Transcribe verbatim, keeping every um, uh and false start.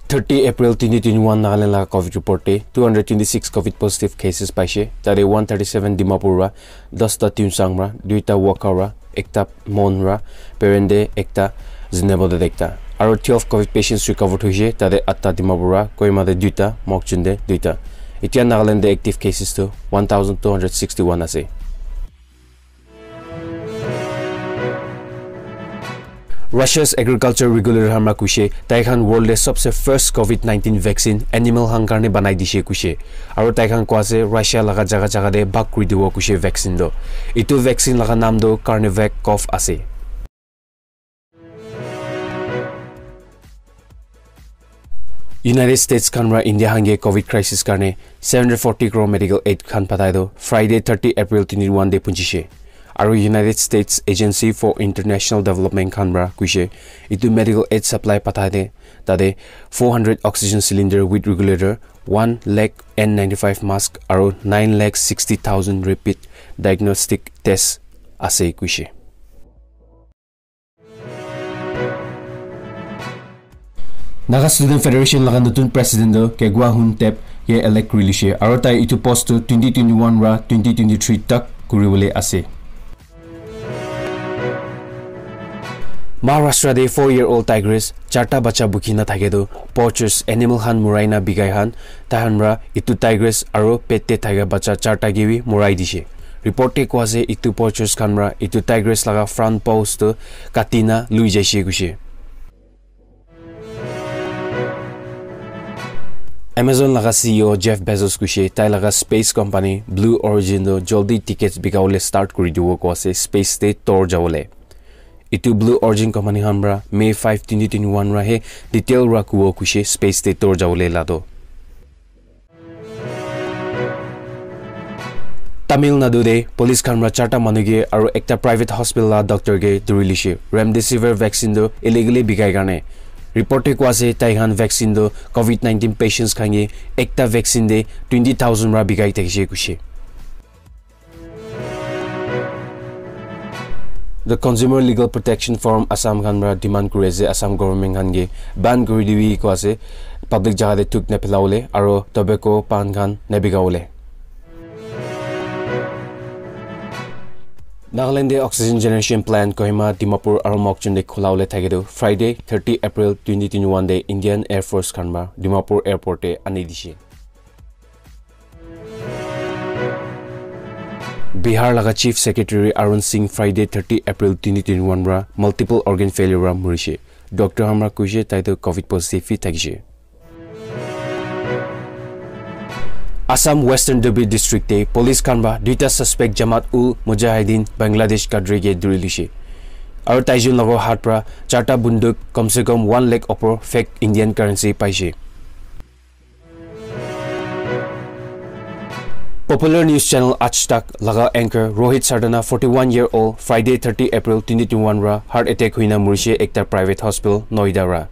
Thirty April twenty twenty-one Nagaland laga covid report te two hundred twenty-six covid positive cases paise. Tade one thirty-seven Dimapur ra, ten ta Tuensang ra, two ta Wokha ra, ekta Mon ra, Peren te ekta, Zunheboto te ekta. Aru twelve covid patients recovered hoise, tade atta Dimapur ra, Kohima te duita, Mokokchung te duita. Etia Nagaland te active cases tu one thousand two hundred sixty-one ase. Russia's agriculture regulator khan para koise, tai khan world te sabse first covid nineteen vaccine animal khan karne banai dise koise. Aru tai khan koa ase Russia laga jaga jaga te bhag kuri dibo koise vaccine to. Etu vaccine laga naam to Carnivac Cov ase. United States khan para India khan ke covid crisis karne seven hundred forty crore medical aid khan pathai to Friday thirty April twenty twenty-one te punchise. Aru United States Agency for International Development khan para koise, etu medical aid supply pathai te tate four hundred oxygen cylinder with regulator, one lakh N ninety-five mask aru nine lakh sixty thousand rapid diagnostic test ase koise. Naga Student Federation laga notun president to Kegwa Hun Tep ke elect kuri lise, aru tai etu post to twenty twenty-one ra twenty twenty-three tak kuri bole ase. Maharashtra te four year old tigress charta bacha bukhi na thake to poachers animal khan murai na bikai khan tahan ra etu tigress aru pet te thaka bacha charta ke bi murai dise. Report te koa ase etu poachers khan para etu tigress laga front paws to kati na lui jaise koise. Amazon laga C E O Jeff Bezos koise tai laga space company Blue Origin to jaldi tickets bika bole start kuri dibo koa ase space te tour jabole. Etu Blue Origin company khan para May five, twenty twenty-one ra he detail ra kubo koise space te tour jabole la to. Tamil Nadu te police khan para charta manu ke aru ekta private hospital la doctor ke duri lise. Remdesivir vaccine to illegally bikai karne. Report te koa ase tai khan vaccine to covid nineteen patients khan ke ekta vaccine te twenty thousand ra bikai thakise koise. The Consumer Legal Protection Forum Assam khan para demand kuri ase Assam government khan ke ban kuri dibi koa ase, public jaga te thuk na phelabole aru tobacco pan khan na bikabole. Nagaland te oxygen generation plant Kohima, Dimapur aru Mokokchung te khula bole thake to Friday thirty April twenty twenty-one te Indian Air Force khan para Dimapur airport te ani dise. Bihar laga Chief Secretary Arun Singh Friday thirty April twenty twenty-one para multiple organ failure para murise. Doctor khan para koise tai to covid positive hi thakise. Assam Western Dhubri District te police khan para duita suspect Jamaat ul Mujahideen Bangladesh cadre ke duri lise. Aru taijon laga hath para charta bunduk kom se kom one lakh opor fake Indian currency paise. Popular news channel Aaj Tak laga anchor Rohit Sardana, forty-one year old, Friday thirty April twenty twenty-one ra heart attack hoina murise ekta private hospital Noida ra.